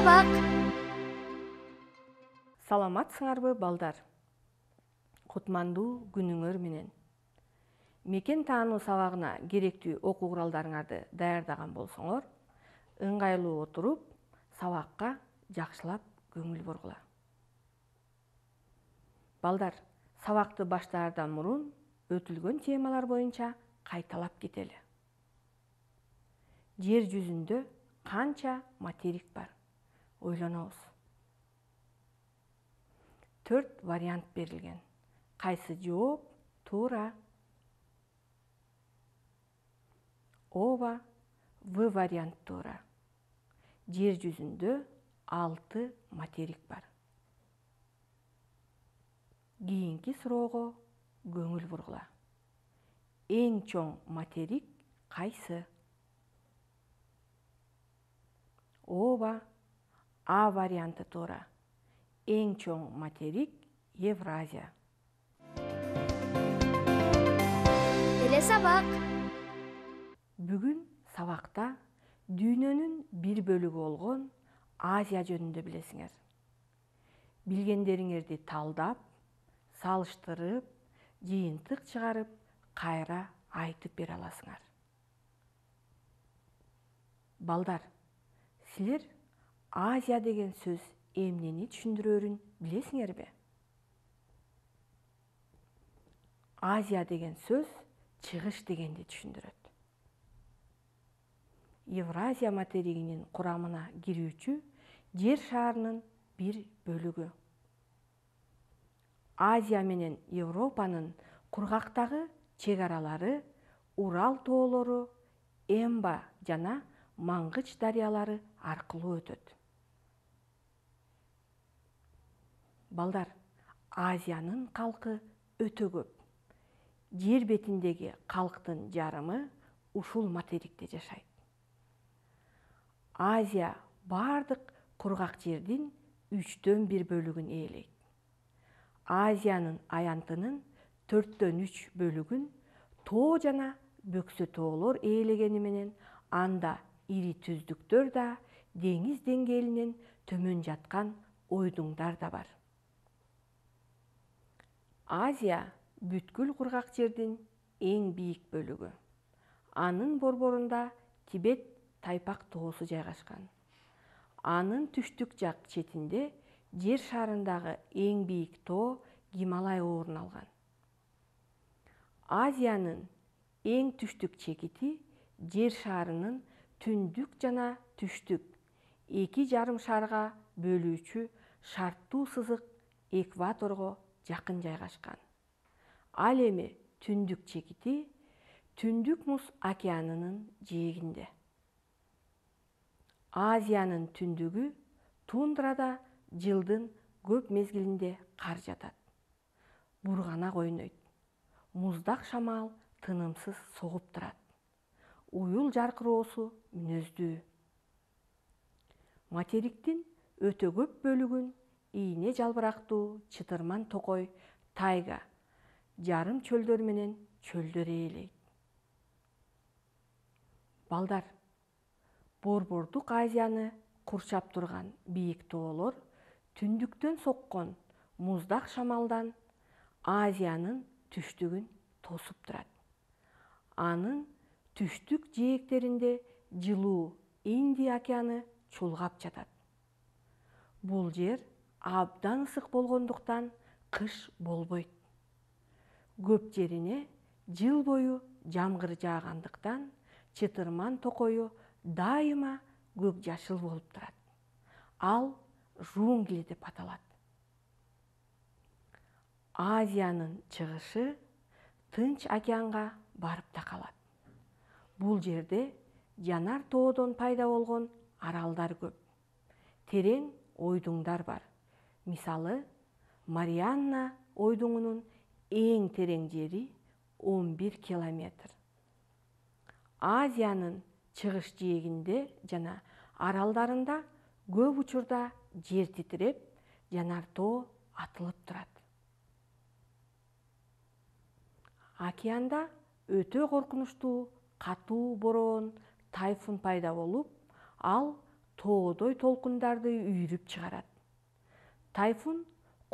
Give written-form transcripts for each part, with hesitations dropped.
сабак. Саламатсыңарбы балдар? Кутмандуу күнүңөр менен. Мекен таануу сабагына керектүү окуу куралдарыңарды даярдаган болсоңор, ыңгайлуу отуруп, сабакка жакшылап көңүл бургула. Балдар, сабакты баштаардан мурун өтүлгөн темалар боюнча кайталап кетели. Жер жүзүндө канча материк бар? Ойлонобуз. 4 вариант берилген. Кайсы жооп туура? Ооба, В вариант туура. Жер жүзүндө 6 материк бар. Кийинки суроого көңүл бургула. Эң чоң материк кайсы? Ооба, А варианты туура. Эң чоң материк Евразия. Телесабак. Бүгүн сабакта дүйнөнүн бир бөлүгү болгон Азия жөнүндө билесиңер. Билгендериңерди талдап, салыштырып, жыйынтык чыгарып, кайра айтып бере аласыңар. Балдар, силер Азия деген сөз эмнени түшүндүрөрүн билесиңерби? Азия деген сөз чыгыш дегенди түшүндүрөт. Евразия материгинин курамына кирүүчү жер шарынын бир бөлүгү. Азия менен Европанын кургактагы чек аралары Урал тоолору, Эмба жана Мангыч дарыялары аркылуу өтөт. Балдар, Азиянын калкы өтө көп. Жер бетиндеги калктын жарымы ушул материкте жашайт. Азия бардык кургак жердин 1/3 бөлүгүн ээлейт. Азиянын аянтынын 4/3 бөлүгүн тоо жана бөксө тоолор ээлегени менен анда ири түздүктөр да, деңиз деңгээлинен төмөн жаткан ойдуңдар да бар. Азия бүткүл кургак жердин эң бийик бөлүгү. Анын борборунда Тибет Тайпак тоосу жайгашкан. Анын түштүк жак четинде жер шарындагы эң бийик тоо Гималай орун алган. Азиянын эң түштүк чекити жер шарынын түндүк жана түштүк 2,5 шарга бөлүүчү шарттуу сызык экваторго жакын жайгашкан. Ал эми түндүк чекити Түндүк Муз океанынын жээгинде. Азиянын түндүгү тундрада жылдын көп мезгилинде кар жатат. Бурганак ойнойт. Муздак шамал тынымсыз согуп турат. Уюл жаркыроосу мүнөздүү. Материктин өтө көп бөлүгүн ийне жалбырактуу чытырман токой тайга, жарым чөлдөр менен чөлдөр ээлейт. Балдар, Борбордук Азияны курчап турган бийик тоолор түндүктөн соккон муздак шамалдан Азиянын түштүгүн тосуп турат. Анын түштүк жээктеринде жылуу Индия океаны чулгап жатат. Бул жер абдан ысык болгондуктан кыш болбойт. Көп жерине жыл бою жамгыр жаагандыктан чытырман токою дайыма көк жашыл болуп турат. Ал жунгли деп аталат. Азиянын чыгышы Тынч океанга барып такалат. Бул жерде жанар тоодон пайда болгон аралдар көп. Терең ойдуңдар бар. Мисалы, Марианна ойдуңунун эң терең жери 11 километр. Азиянын чыгыш жээгинде жана аралдарында көп учурда жер титиреп, жанар тоо атылып турат. Океанда өтө коркунучтуу катуу бороон, тайфун пайда болуп, ал тоодой толкундарды үйрүп чыгарат. Тайфун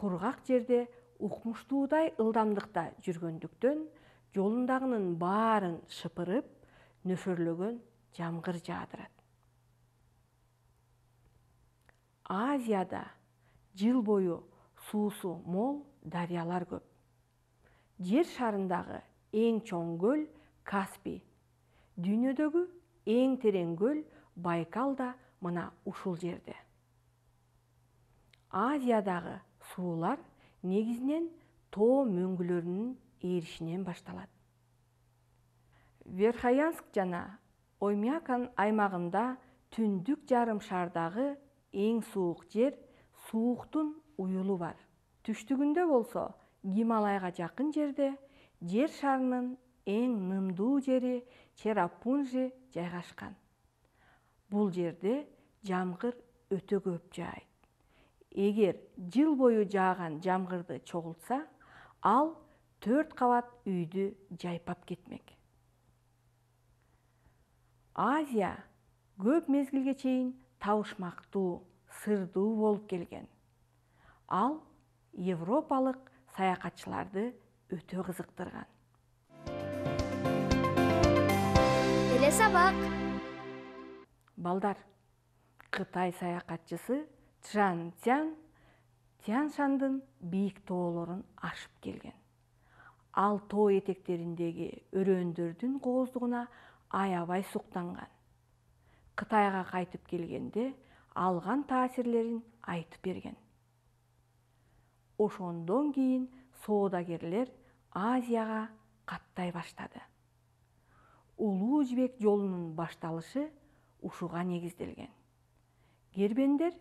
кургак жерде укмуштуудай ылдамдыкта жүргөндүктөн жолундагынын баарын шыпырып, нөшөрлөгөн жамгыр жаадырат. Азияда жыл бою суусу мол дарыялар көп. Жер шарындагы эң чоң көл Каспий, дүйнөдөгү эң терең көл Байкал да мына ушул жерде. Азиядагы суулар негизинен тоо мөңгүлөрүнүн ээришинен башталат. Верхоянск жана Оймякан аймагында түндүк жарым шардагы эң суук жер Сууктун уюлу бар. Түштүгүндө болсо Гималайга жакын жерде жер шарынын эң нымдуу жери Черрапунжи жайгашкан. Бул жерде жамгыр өтө көп жаайт. Эгер жыл бою жааган жамгырды чогултса, ал 4 кабат үйдү жайпап кетмек. Азия көп мезгилге чейин табышмактуу, сырдуу болуп келген. Ал европалык саякатчыларды өтө кызыктырган. Эле сабак. Балдар, Кытай саякатчысы Чжан Цян Тянь-Шандын бийик тоолорун ашып келген. Ал тоо этектериндеги өрөөндөрдүн кооздугуна аябай суктанган. Кытайга кайтып келгенде алган таасирлерин айтып берген. Ошондон кийин соодагерлер Азияга каттай баштады. Улуу жибек жолунун башталышы ушуга негизделген. Кербендер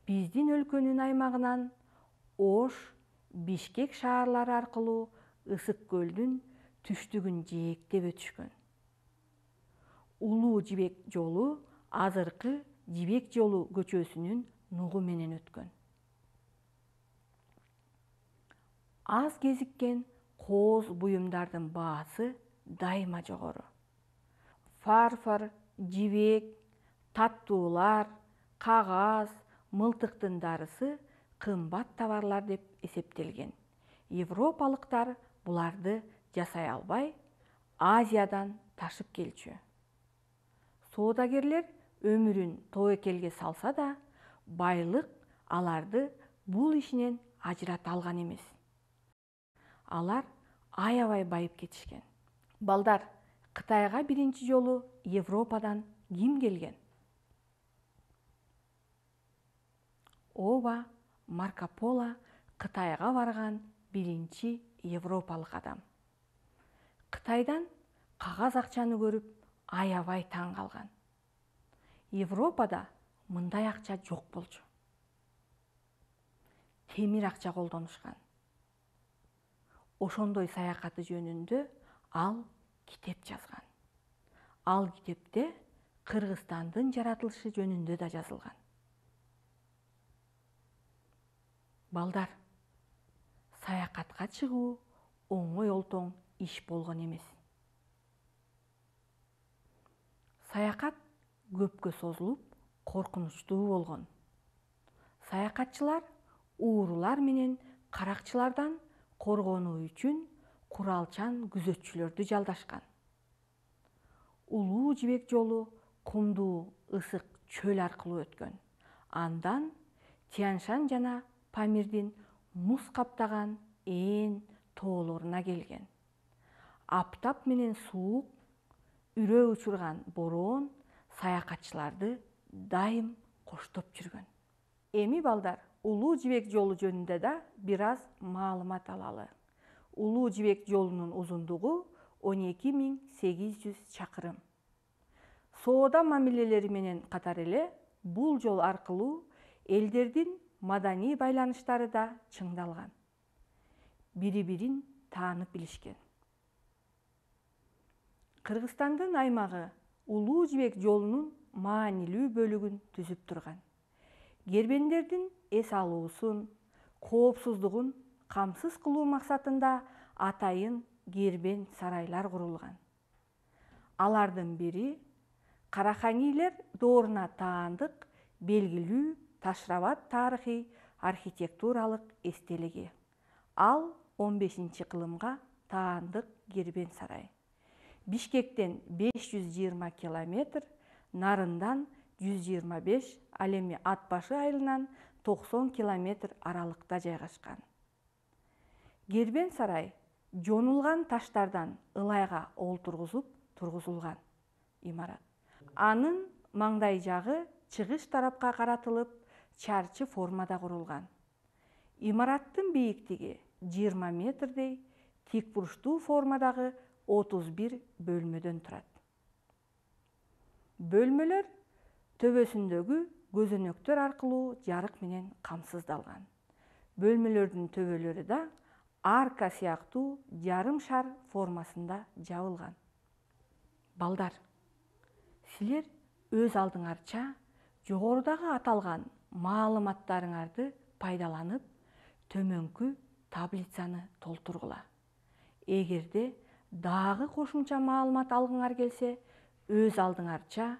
биздин өлкөнүн аймагынан Ош, Бишкек шаарлары аркылуу Ысык көлдүн түштүгүн жээктеп өтүшкөн. Улуу жибек жолу азыркы Жибек жолу көчөсүнүн нугу менен өткөн. Аз кезиккен кооз буюмдардын баасы дайыма жогору. Фарфор, жибек, таттуулар, кагаз, мылтыктын дарысы кымбат товарлар деп эсептелген. Европалыктар буларды жасай албай, Азиядан ташып келчү. Соодагерлер өмүрүн тобокелге салса да, байлык аларды бул ишинен ажырата алган эмес. Алар аябай байып кетишкен. Балдар, Кытайга биринчи жолу Европадан ким келген? Ооба, Марко Поло Кытайга барган биринчи европалык адам. Кытайдан кагаз акчаны көрүп аябай таң калган. Европада мындай акча жок болчу. Темир акча колдонушкан. Ошондой саякаты жөнүндө ал китеп жазган. Ал китепте Кыргызстандын жаратылышы жөнүндө да жазылган. Балдар, саякатка чыгуу оңой олтоң иш болгон эмес. Саякат көпкө созулуп, коркунучтуу болгон. Саякатчылар уурулар менен каракчылардан коргонуу үчүн куралчан күзөтчүлөрдү жалдашкан. Улуу жибек жолу кумдуу ысык чөл аркылуу өткөн. Андан Тянь-Шань жана Памирдин муз каптаган ээн тоолоруна келген. Аптап менен суук, үрөө учурган бороон саякатчыларды дайым коштоп жүргөн. Эми балдар, улуу жибек жолу жөнүндө да бир аз маалымат алалы. Улуу жибек жолунун узундугу 12.800 чакырым. Соода мамилелери менен катар эле бул жол аркылуу элдердин маданий байланыштары да чыңдалган. Бири-бирин таанып билишкен. Кыргызстандын аймагы улуу жибек жолунун маанилүү бөлүгүн түзүп турган. Кербендердин эс алуусун, коопсуздугун камсыз кылуу максатында атайын кербен сарайлар курулган. Алардын бири Караханилер дооруна таандык белгилүү Ташрабад тарыхый архитектуралык эстелиги. Ал 15-кылымга таандык Кербен сарай. Бишкектен 520 километр, нарындан 125, ал эми Ат башы айылынан 90 километр аралыкта жайгашкан. Кербен сарай жонулган таштардан ылайга олтургузуп тургузулган имарат. Анын маңдай жагы чыгыш тарапка каратылып, чарчы формада курулган. Имараттын бийиктиги 20 метрдей, тик бурчтуу формадагы 31 бөлмөдөн турат. Бөлмөлөр төбөсүндөгү көзөнөктөр аркылуу жарык менен камсыздалган. Бөлмөлөрдүн төбөлөрү да арка сыяктуу жарым шар формасында жабылган. Балдар, силер өз алдыңарча жогорудагы аталган маалыматтарыңарды пайдаланып, төмөнкү таблицаны толтургула. Эгерде дагы кошумча маалымат алгыңар келсе, өз алдыңарча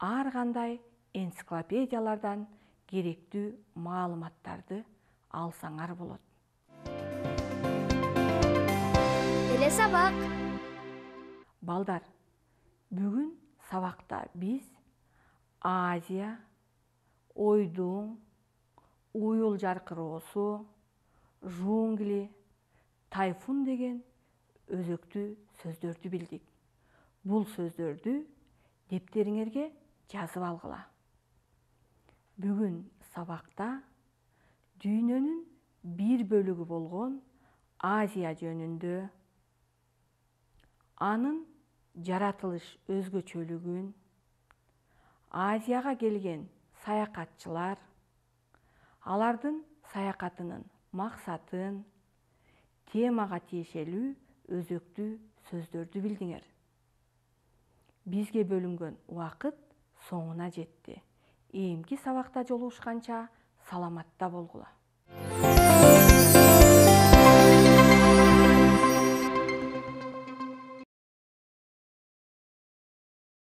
ар кандай энциклопедиялардан керектүү маалыматтарды алсаңар болот. Эле сабак. Балдар, бүгүн сабакта биз Азия, ойдуң, уюл жаркыроосу, жунгли, тайфун деген өзөктүү сөздөрдү билдик. Бул сөздөрдү дептериңерге жазып алгыла. Бүгүн сабакта дүйнөнүн бир бөлүгү болгон Азия жөнүндө, анын жаратылыш өзгөчөлүгүн, Азияга келген саякатчылар, алардын саякатынын максатын, темага тиешелүү өзөктүү сөздөрдү билдиңер. Бизге бөлүнгөн убакыт соңуна жетти. Эмки сабакта жолугушканча саламатта болгула.